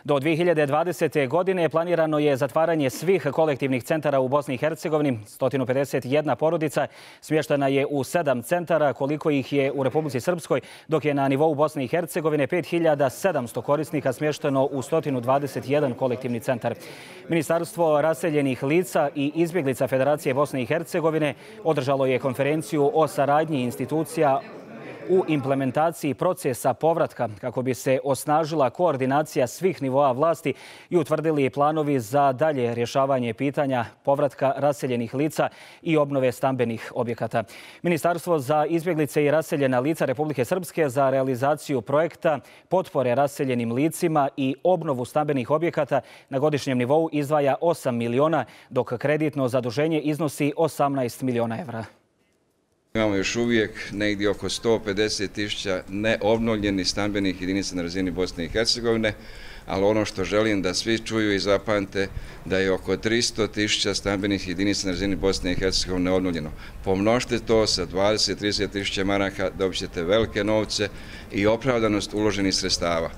Do 2020. godine planirano je zatvaranje svih kolektivnih centara u Bosni i Hercegovini. 151 porodica smještena je u 7 centara, koliko ih je u Republici Srpskoj, dok je na nivou Bosne i Hercegovine 5700 korisnika smješteno u 121 kolektivni centar. Ministarstvo raseljenih lica i izbjeglica Federacije Bosne i Hercegovine održalo je konferenciju o saradnji institucija u implementaciji procesa povratka kako bi se osnažila koordinacija svih nivoa vlasti i utvrdili planovi za dalje rješavanje pitanja povratka raseljenih lica i obnove stambenih objekata. Ministarstvo za izbjeglice i raseljena lica Republike Srpske za realizaciju projekta potpore raseljenim licima i obnovu stambenih objekata na godišnjem nivou izdvaja 8 miliona, dok kreditno zaduženje iznosi 18 miliona evra. Imamo još uvijek negdje oko 150.000 neobnovljenih stambenih jedinica na razini Bosne i Hercegovine, ali ono što želim da svi čuju i zapamte da je oko 300.000 stambenih jedinica na razini Bosne i Hercegovine neobnovljeno. Pomnožite to sa 20-30.000 maraka, dobit ćete velike novce i opravdanost uloženih sredstava.